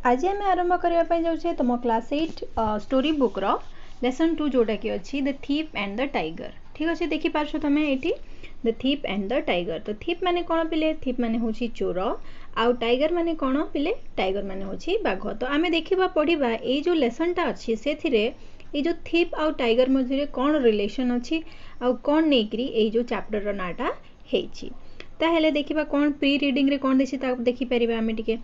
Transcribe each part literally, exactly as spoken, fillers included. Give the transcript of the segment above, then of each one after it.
ଆଜି ଆମେ ଆରମ୍ଭ କରିବା ପାଇଁ ଯାଉଛେ ତୁମ କ୍ଲାସ୍ ଏଇଟ୍ ଷ୍ଟୋରି ବୁକ୍ର ଲେସନ୍ ଟୁ ଯେଉଁଟାକି ଅଛି The Thief and the Tiger ଠିକ୍ ଅଛି ଦେଖିପାରୁଛ ତୁମେ ଏଇଠି The Thief and the Tiger ତ ଥିଫ୍ ମାନେ କ'ଣ ପିଲେ ଥିଫ୍ ମାନେ ହେଉଛି ଚୋର ଆଉ ଟାଇଗର ମାନେ କ'ଣ ପିଲେ ଟାଇଗର ମାନେ ହେଉଛି ବାଘ ତ ଆମେ ଦେଖିବା ପଢ଼ିବା ଏଇ ଯେଉଁ ଲେସନ୍ଟା ଅଛି ସେଥିରେ ଏଇ ଯେଉଁ ଥିଫ୍ ଆଉ ଟାଇଗର ମଧ୍ୟରେ କ'ଣ ରିଲେସନ୍ ଅଛି ଆଉ କ'ଣ ନେଇକରି ଏଇ ଯେଉଁ ଚାପ୍ଟରର ନାଁଟା ହେଇଛି ତାହେଲେ ଦେଖିବା କ'ଣ ପ୍ରି ରିଡ଼ିଂରେ କ'ଣ ଦେଇଛି ତାକୁ ଦେଖିପାରିବା ଆମେ ଟିକେ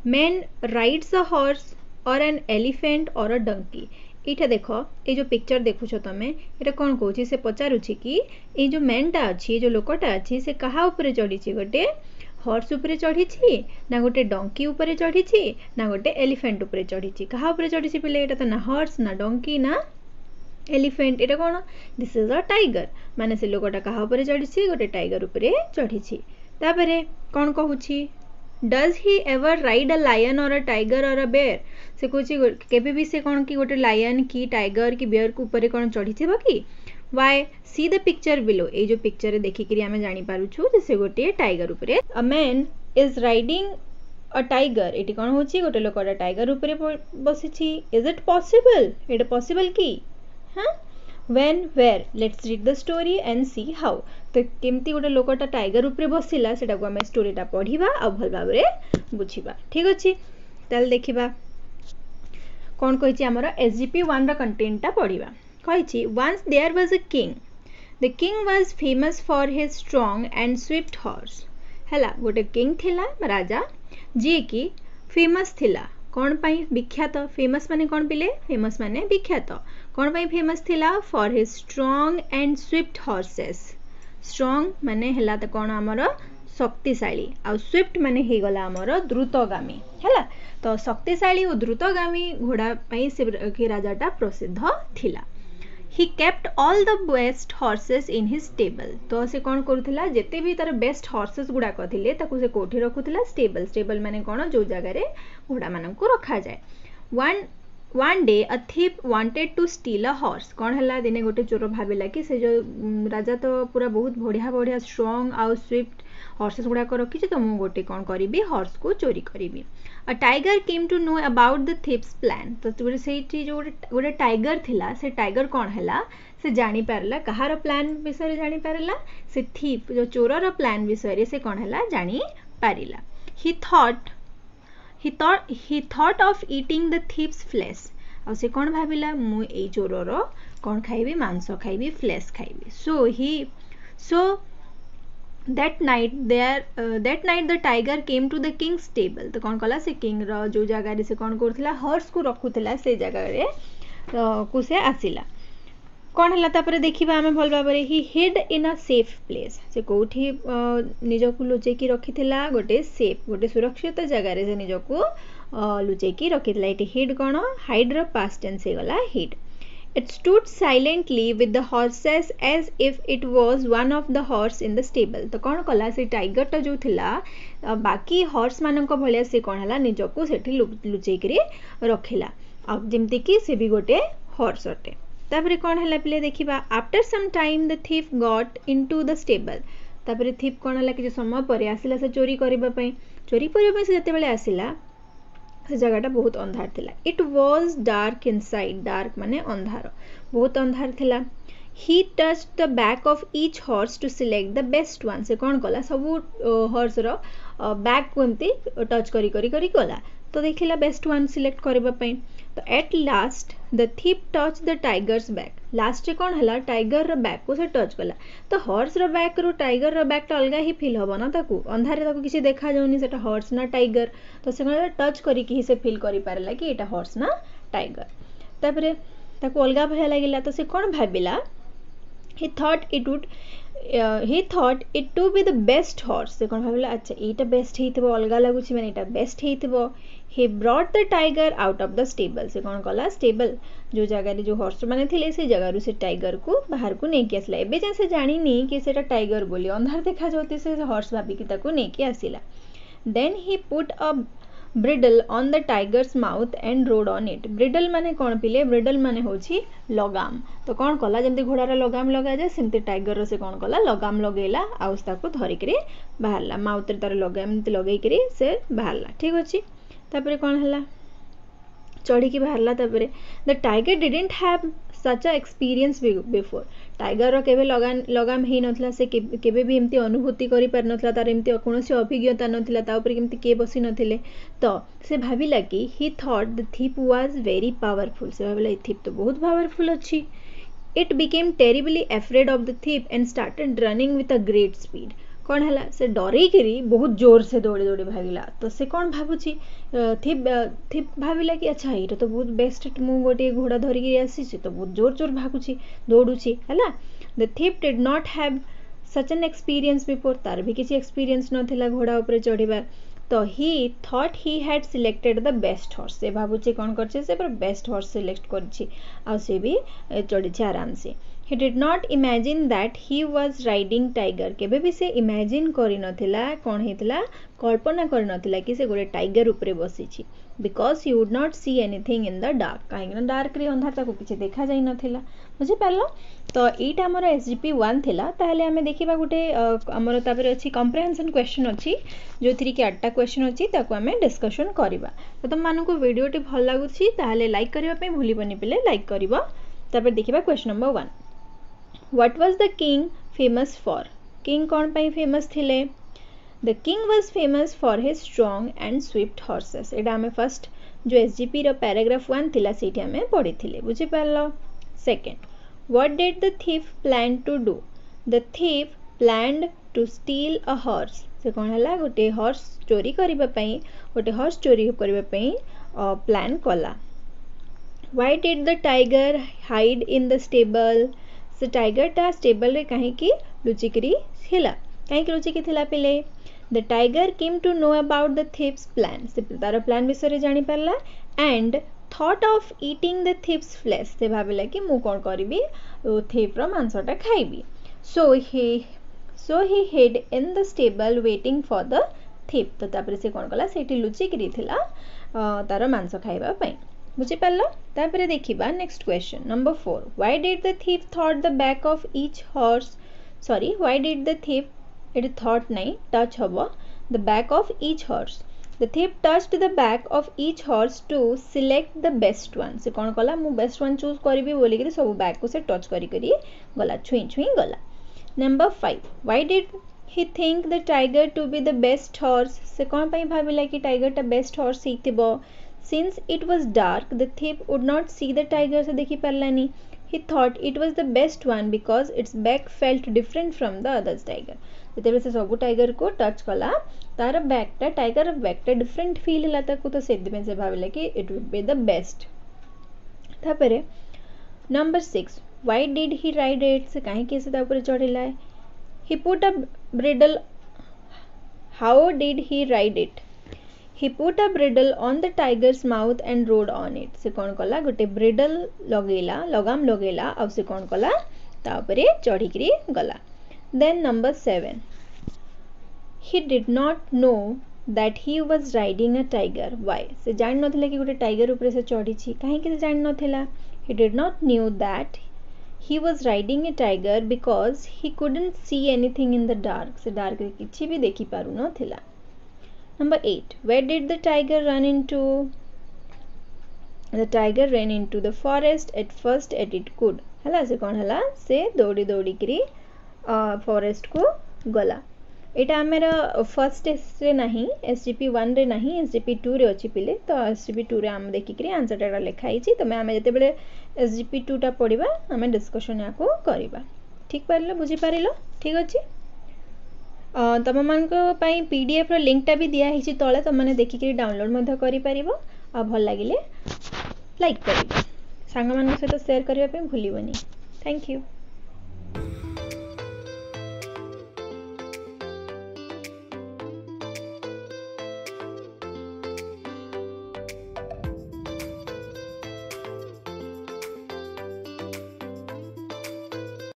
Man rides a horse or an elephant or a donkey ଏଇଟା ଦେଖ ଏଇ ଯେଉଁ ପିକ୍ଚର ଦେଖୁଛ ତମେ ଏଇଟା କ'ଣ କହୁଛି ସେ ପଚାରୁଛି କି ଏଇ ଯେଉଁ ମ୍ୟାନ୍ଟା ଅଛି ଏଇ ଯେଉଁ ଲୋକଟା ଅଛି ସେ କାହା ଉପରେ ଚଢ଼ିଛି ଗୋଟେ ହର୍ସ ଉପରେ ଚଢ଼ିଛି ନା ଗୋଟେ ଡଙ୍କି ଉପରେ ଚଢ଼ିଛି ନା ଗୋଟେ ଏଲିଫେଣ୍ଟ ଉପରେ ଚଢ଼ିଛି କାହା ଉପରେ ଚଢ଼ିଛି ପିଲେ ଏଇଟା ତ ନା ହର୍ସ ନା ଡଙ୍କି ନା ଏଲିଫେଣ୍ଟ ଏଇଟା କ'ଣ This is a tiger ମାନେ ସେ ଲୋକଟା କାହା ଉପରେ ଚଢ଼ିଛି ଗୋଟେ ଟାଇଗର ଉପରେ ଚଢ଼ିଛି ତାପରେ କ'ଣ କହୁଛି Does he ever ride a lion or a tiger or a bear ସେ କହୁଛି କେବେ ବି ସେ କ'ଣ କି ଗୋଟେ ଲାୟନ୍ କି ଟାଇଗର କି ବେୟର୍ ଉପରେ କ'ଣ ଚଢ଼ିଥିବ କି Why see the picture below ଏଇ ଯେଉଁ ପିକ୍ଚରରେ ଦେଖିକିରି ଆମେ ଜାଣିପାରୁଛୁ ଯେ ସେ ଗୋଟିଏ ଟାଇଗର ଉପରେ A man is riding a tiger ଏଠି କ'ଣ ହେଉଛି ଗୋଟେ ଲୋକଟା ଟାଇଗର ଉପରେ ବସିଛି Is it possible ଏଇଟା ପସିବଲ୍ କି ହଁ When where let's read the story and see how ତ କେମିତି ଗୋଟେ ଲୋକଟା ଟାଇଗର ଉପରେ ବସିଲା ସେଟାକୁ ଆମେ ଷ୍ଟୋରିଟା ପଢ଼ିବା ଆଉ ଭଲ ଭାବରେ ବୁଝିବା ଠିକ୍ ଅଛି ତାହେଲେ ଦେଖିବା କ'ଣ କହିଛି ଆମର ଏସ୍ ଜି ପି ୱାନ୍ର କଣ୍ଟେଣ୍ଟଟା ପଢ଼ିବା କହିଛି Once there was a king the king was famous for his strong and swift horse ହେଲା ଗୋଟେ କିଙ୍ଗ ଥିଲା ରାଜା ଯିଏକି ଫେମସ୍ ଥିଲା କ'ଣ ପାଇଁ ବିଖ୍ୟାତ ଫେମସ୍ ମାନେ କ'ଣ ପିଲେ ଫେମସ୍ ମାନେ ବିଖ୍ୟାତ କ'ଣ ପାଇଁ ଫେମସ୍ ଥିଲା for his strong and swift horses strong ମାନେ ହେଲା ତ କ'ଣ ଆମର ଶକ୍ତିଶାଳୀ ଆଉ ସ୍ୱିଫ୍ଟ ମାନେ ହେଇଗଲା ଆମର ଦ୍ରୁତଗାମୀ ହେଲା ତ ଶକ୍ତିଶାଳୀ ଓ ଦ୍ରୁତଗାମୀ ଘୋଡ଼ା ପାଇଁ ସେ ରାଜାଟା ପ୍ରସିଦ୍ଧ ଥିଲା He kept all the best horses in his stable ତ ସେ କ'ଣ କରୁଥିଲା ଯେତେ ବି ତାର ବେଷ୍ଟ ହର୍ସେସ୍ ଗୁଡ଼ାକ ଥିଲେ ତାକୁ ସେ କେଉଁଠି ରଖୁଥିଲା ଷ୍ଟେବଲ୍ ଷ୍ଟେବଲ୍ ମାନେ କ'ଣ ଯେଉଁ ଜାଗାରେ ଘୋଡ଼ାମାନଙ୍କୁ ରଖାଯାଏ One one day a thief wanted to steal a horse କ'ଣ ହେଲା ଦିନେ ଗୋଟେ ଚୋର ଭାବିଲା କି ସେ ଯେଉଁ ରାଜା ତ ପୁରା ବହୁତ ବଢ଼ିଆ ବଢ଼ିଆ ଷ୍ଟ୍ରଙ୍ଗ ଆଉ ସ୍ୱିଫ୍ଟ ହର୍ସେସ୍ ଗୁଡ଼ାକ ରଖିଛି ତ ମୁଁ ଗୋଟେ କ'ଣ କରିବି ହର୍ସକୁ ଚୋରି କରିବି A tiger came to know about the thief's plan ତ ଗୋଟେ ସେଇଠି ଯେଉଁ ଗୋଟେ ଗୋଟେ ଟାଇଗର ଥିଲା ସେ ଟାଇଗର କ'ଣ ହେଲା ସେ ଜାଣିପାରିଲା କାହାର ପ୍ଲାନ୍ ବିଷୟରେ ଜାଣିପାରିଲା ସେ ଥିଫ୍ ଯେଉଁ ଚୋରର ପ୍ଲାନ୍ ବିଷୟରେ ସେ କ'ଣ ହେଲା ଜାଣିପାରିଲା He thought he thought he thought of eating the thief's flesh ଆଉ ସେ କ'ଣ ଭାବିଲା ମୁଁ ଏଇ ଚୋରର କ'ଣ ଖାଇବି ମାଂସ ଖାଇବି ଫ୍ଲେସ୍ ଖାଇବି So he so that night there uh, that night the tiger came to the king's stable ତ କ'ଣ କଲା ସେ କିଙ୍ଗର ଯେଉଁ ଜାଗାରେ ସେ କ'ଣ କରୁଥିଲା ହର୍ସକୁ ରଖୁଥିଲା ସେ ଜାଗାରେ କୁ ସେ ଆସିଲା କ'ଣ ହେଲା ତାପରେ ଦେଖିବା ଆମେ ଭଲ ଭାବରେ He hid in a safe place ସେ କେଉଁଠି ନିଜକୁ ଲୁଚେଇକି ରଖିଥିଲା ଗୋଟେ ସେଫ୍ ଗୋଟେ ସୁରକ୍ଷିତ ଜାଗାରେ ସେ ନିଜକୁ ଲୁଚେଇକି ରଖିଥିଲା ଏଠି ହିଡ୍ କ'ଣ ହାଇଡ୍ର ପାଷ୍ଟ ଟେନ୍ସ ହେଇଗଲା hid It stood silently with the horses as if it was one of the horse in the stable. ତ କ'ଣ କଲା ସେ ଟାଇଗରଟା ଯେଉଁ ଥିଲା ବାକି ହର୍ସ ମାନଙ୍କ ଭଳିଆ ସେ କ'ଣ ହେଲା ନିଜକୁ ସେଠି ଲୁଚେଇକିରି ରଖିଲା ଆଉ ଯେମିତିକି ସେ ବି ଗୋଟେ ହର୍ସ ଅଟେ ତାପରେ କ'ଣ ହେଲା ପିଲେ ଦେଖିବା After some time the thief got into the stable ତାପରେ ଥିଫ୍ କ'ଣ ହେଲା କିଛି ସମୟ ପରେ ଆସିଲା ସେ ଚୋରି କରିବା ପାଇଁ ଚୋରି କରିବା ପାଇଁ ସେ ଯେତେବେଳେ ଆସିଲା ସେ ଜାଗାଟା ବହୁତ ଅନ୍ଧାର ଥିଲା It was dark inside dark ମାନେ ଅନ୍ଧାର ବହୁତ ଅନ୍ଧାର ଥିଲା He touched the back of each horse to select the best one ସେ କ'ଣ କଲା ସବୁ ହର୍ସର ବ୍ୟାକ୍କୁ ଏମିତି ଟଚ୍ କରି କରି କରି ଗଲା ତ ଦେଖିଲା ବେଷ୍ଟ ୱାନ୍ ସିଲେକ୍ଟ କରିବା ପାଇଁ ତ At last the thief touched the tiger's back ଲାଷ୍ଟରେ କ'ଣ ହେଲା ଟାଇଗରର ବ୍ୟାକ୍କୁ ସେ ଟଚ୍ କଲା ତ ହର୍ସର ବ୍ୟାକ୍ରୁ ଟାଇଗରର ବ୍ୟାକ୍ଟା ଅଲଗା ହିଁ ଫିଲ୍ ହେବ ନା ତାକୁ ଅନ୍ଧାରରେ ତାକୁ କିଛି ଦେଖାଯାଉନି ସେଟା ହର୍ସ ନା ଟାଇଗର ତ ସେ କ'ଣ ଟଚ୍ କରିକି ହିଁ ସେ ଫିଲ୍ କରିପାରିଲା କି ଏଇଟା ହର୍ସ ନା ଟାଇଗର ତାପରେ ତାକୁ ଅଲଗା ଭଳିଆ ଲାଗିଲା ତ ସେ କ'ଣ ଭାବିଲା He thought it would he thought it to be the best horse ସେ କ'ଣ ଭାବିଲା ଆଚ୍ଛା ଏଇଟା ବେଷ୍ଟ ହେଇଥିବ ଅଲଗା ଲାଗୁଛି ମାନେ ଏଇଟା ବେଷ୍ଟ ହେଇଥିବ He brought the tiger out of the stable ସେ କ'ଣ କଲା ଷ୍ଟେବଲ୍ ଯେଉଁ ଜାଗାରେ ଯେଉଁ ହର୍ସ ମାନେ ଥିଲେ ସେ ଜାଗାରୁ ସେ ଟାଇଗରକୁ ବାହାରକୁ ନେଇକି ଆସିଲା ଏବେ ଯାଏଁ ସେ ଜାଣିନି କି ସେଇଟା ଟାଇଗର ବୋଲି ଅନ୍ଧାର ଦେଖାଯାଉଛି ସେ ହର୍ସ ଭାବିକି ତାକୁ ନେଇକି ଆସିଲା Then he put a bridle on the tiger's mouth and rode on it ବ୍ରିଡଲ୍ ମାନେ କ'ଣ ପିଲେ ବ୍ରିଡଲ୍ ମାନେ ହେଉଛି ଲଗାମ ତ କ'ଣ କଲା ଯେମିତି ଘୋଡ଼ାର ଲଗାମ ଲଗାଯାଏ ସେମିତି ଟାଇଗରର ସେ କ'ଣ କଲା ଲଗାମ ଲଗେଇଲା ଆଉ ତାକୁ ଧରିକିରି ବାହାରିଲା ମାଉଥରେ ତାର ଲଗାମ ଏମିତି ଲଗେଇକିରି ସେ ବାହାରିଲା ଠିକ୍ ଅଛି ତାପରେ କ'ଣ ହେଲା ଚଢ଼ିକି ବାହାରିଲା ତାପରେ the tiger didn't have such a experience before ଟାଇଗରର କେବେ ଲଗାମ ଲଗାମ ହେଇନଥିଲା ସେ କେବେ ବି ଏମିତି ଅନୁଭୂତି କରିପାରିନଥିଲା ତାର ଏମିତି କୌଣସି ଅଭିଜ୍ଞତା ନଥିଲା ତା ଉପରେ କେମିତି କିଏ ବସି ନଥିଲେ ତ ସେ ଭାବିଲା କି he thought the thief was very powerful ସେ ଭାବିଲା ଏ ଥିପ୍ ତ ବହୁତ ପାୱାରଫୁଲ୍ ଅଛି it became terribly afraid of the thief and started running with a great speed କ'ଣ ହେଲା ସେ ଡରେଇକିରି ବହୁତ ଜୋରସେ ଦୌଡ଼ି ଦୌଡ଼ି ଭାଗିଲା ତ ସେ କ'ଣ ଭାବୁଛି ଥିପ୍ ଥିପ୍ ଭାବିଲା କି ଆଚ୍ଛା ଏଇଟା ତ ବହୁତ ବେଷ୍ଟ ମୁଁ ଗୋଟିଏ ଘୋଡ଼ା ଧରିକି ଆସିଛି ତ ବହୁତ ଜୋର ଜୋର ଭାଗୁଛି ଦୌଡ଼ୁଛି ହେଲା the thief did not have such an experience before ତାର ବି କିଛି ଏକ୍ସପିରିଏନ୍ସ ନଥିଲା ଘୋଡ଼ା ଉପରେ ଚଢ଼ିବା ତ he thought he had selected the best horse ସେ ଭାବୁଛି କ'ଣ କରିଛି ସେ ପୁରା ବେଷ୍ଟ ହର୍ସ ସିଲେକ୍ଟ କରିଛି ଆଉ ସେ ବି ଚଢ଼ିଛି ଆରାମସେ he did not imagine that he was riding tiger କେବେ ବି ସେ ଇମାଜିନ୍ କରିନଥିଲା କ'ଣ ହେଇଥିଲା କଳ୍ପନା କରିନଥିଲା କି ସେ ଗୋଟେ ଟାଇଗର ଉପରେ ବସିଛି because he would not see anything in the dark କାହିଁକିନା ଡାର୍କରେ ଅନ୍ଧାର ତାକୁ କିଛି ଦେଖାଯାଇନଥିଲା ବୁଝିପାରିଲ ତ ଏଇଟା ଆମର ଏସ୍ ଜି ପି ୱାନ୍ ଥିଲା ତାହେଲେ ଆମେ ଦେଖିବା ଗୋଟେ ଆମର ତାପରେ ଅଛି କମ୍ପ୍ରେହେନ୍ସନ୍ କ୍ୱେଶ୍ଚନ୍ ଅଛି ଯେଉଁଥିରେ କି ଆଠଟା କ୍ୱେଶ୍ଚନ୍ ଅଛି ତାକୁ ଆମେ ଡିସ୍କସନ୍ କରିବା ତ ତୁମମାନଙ୍କୁ ଭିଡ଼ିଓଟି ଭଲ ଲାଗୁଛି ତାହେଲେ ଲାଇକ୍ କରିବା ପାଇଁ ଭୁଲିବନି ପିଲେ ଲାଇକ୍ କରିବ ତାପରେ ଦେଖିବା question number one what was the king famous for king କ'ଣ ପାଇଁ ଫେମସ୍ ଥିଲେ the king was famous for his strong and swift horses ଏଇଟା ଆମେ ଫାର୍ଷ୍ଟ ଯେଉଁ ଏସ୍ ଜି ପିର ପ୍ୟାରାଗ୍ରାଫ ୱାନ୍ ଥିଲା ସେଇଠି ଆମେ ପଢ଼ିଥିଲେ ବୁଝିପାରିଲ second what did the thief plan to do the thief planned to steal a horse ସେ କ'ଣ ହେଲା ଗୋଟିଏ ହର୍ସ ଚୋରି କରିବା ପାଇଁ ଗୋଟେ ହର୍ସ ଚୋରି କରିବା ପାଇଁ ପ୍ଲାନ୍ କଲା why did the tiger hide in the stable ସେ ଟାଇଗରଟା ଷ୍ଟେବଲରେ କାହିଁକି ଲୁଚିକିରି ଥିଲା କାହିଁକି ଲୁଚିକି ଥିଲା ପିଲେ the tiger came to know about the thief's plan ସେ ତାର ପ୍ଲାନ୍ ବିଷୟରେ ଜାଣିପାରିଲା and thought of eating the thief's flesh ସେ ଭାବିଲା କି ମୁଁ କ'ଣ କରିବି ଥିଫ୍ର ମାଂସଟା ଖାଇବି so he so he hid in the stable waiting for the thief ତ ତାପରେ ସେ କ'ଣ କଲା ସେଇଠି ଲୁଚିକିରି ଥିଲା ତାର ମାଂସ ଖାଇବା ପାଇଁ ବୁଝିପାରିଲ ତାପରେ ଦେଖିବା next question number four why did the thief thought the back of each horse sorry why did the thief ଏଠି ଥଟ୍ ନାହିଁ ଟଚ୍ ହେବ the back of each horse the thief touched the back of each horse to select the best one ସେ କ'ଣ କଲା ମୁଁ best one choose କରିବି ବୋଲିକିରି ସବୁ ବ୍ୟାକ୍କୁ ସେ ଟଚ୍ କରି କରି ଗଲା ଛୁଇଁ ଛୁଇଁ ଗଲା number five why did he think the tiger to be the best horse ସେ କ'ଣ ପାଇଁ ଭାବିଲା କି ଟାଇଗରଟା ବେଷ୍ଟ ହର୍ସ ହେଇଥିବ since it was dark the thief would not see the tiger ସେ ଦେଖିପାରିଲାନି he thought it was the best one because its back felt different from the others tiger ଯେତେବେଳେ ସେ ସବୁ ଟାଇଗରକୁ ଟଚ୍ କଲା ତାର ବ୍ୟାକ୍ଟା ଟାଇଗର ବ୍ୟାକ୍ଟା ଡିଫରେଣ୍ଟ ଫିଲ୍ ହେଲା ତାକୁ ତ ସେଥିପାଇଁ ସେ ଭାବିଲା କି it would be the best ତାପରେ number six why did he ride it ସେ କାହିଁକି ସେ ତା ଉପରେ ଚଢ଼ିଲା he put a bridle how did he ride it he put a bridle on the tiger's mouth and rode on it ସେ କ'ଣ କଲା ଗୋଟେ ବ୍ରିଡଲ୍ ଲଗେଇଲା ଲଗାମ ଲଗେଇଲା ଆଉ ସେ କ'ଣ କଲା ତା ଉପରେ ଚଢ଼ିକିରି ଗଲା then number seven he did not know that he was riding a tiger why ସେ ଜାଣିନଥିଲା କି ଗୋଟେ ଟାଇଗର ଉପରେ ସେ ଚଢ଼ିଛି କାହିଁକି ସେ ଜାଣିନଥିଲା he did not knew that he was riding a tiger because he couldn't see anything in the dark ସେ ଡାର୍କରେ କିଛି ବି ଦେଖିପାରୁନଥିଲା number eight where did the tiger run into the tiger ran into the forest as fast as it could ହେଲା ସେ କ'ଣ ହେଲା ସେ ଦୌଡ଼ି ଦୌଡ଼ିକିରି ଫରେଷ୍ଟକୁ ଗଲା ଏଇଟା ଆମର ଫର୍ଷ୍ଟ ଟେଷ୍ଟରେ ନାହିଁ ଏସ୍ ଜି ପି ୱାନ୍ରେ ନାହିଁ ଏସ୍ ଜି ପି ଟୁରେ ଅଛି ପିଲେ ତ ଏସ୍ ଜି ପି ଟୁରେ ଆମେ ଦେଖିକିରି ଆନ୍ସର୍ଟା ଲେଖା ହେଇଛି ତମେ ଆମେ ଯେତେବେଳେ ଏସ୍ ଜି ପି ଟୁଟା ପଢ଼ିବା ଆମେ ଡିସ୍କସନ୍ ୟାକୁ କରିବା ଠିକ୍ ପାରିଲ ବୁଝିପାରିଲ ଠିକ୍ ଅଛି ତମମାନଙ୍କ ପାଇଁ ପି ଡି ଏଫ୍ର ଲିଙ୍କଟା ବି ଦିଆହେଇଛି ତଳେ ତୁମମାନେ ଦେଖିକିରି ଡାଉନଲୋଡ଼୍ ମଧ୍ୟ କରିପାରିବ ଆଉ ଭଲ ଲାଗିଲେ ଲାଇକ୍ କରିବ ସାଙ୍ଗମାନଙ୍କ ସହିତ ସେୟାର କରିବା ପାଇଁ ଭୁଲିବନି thank you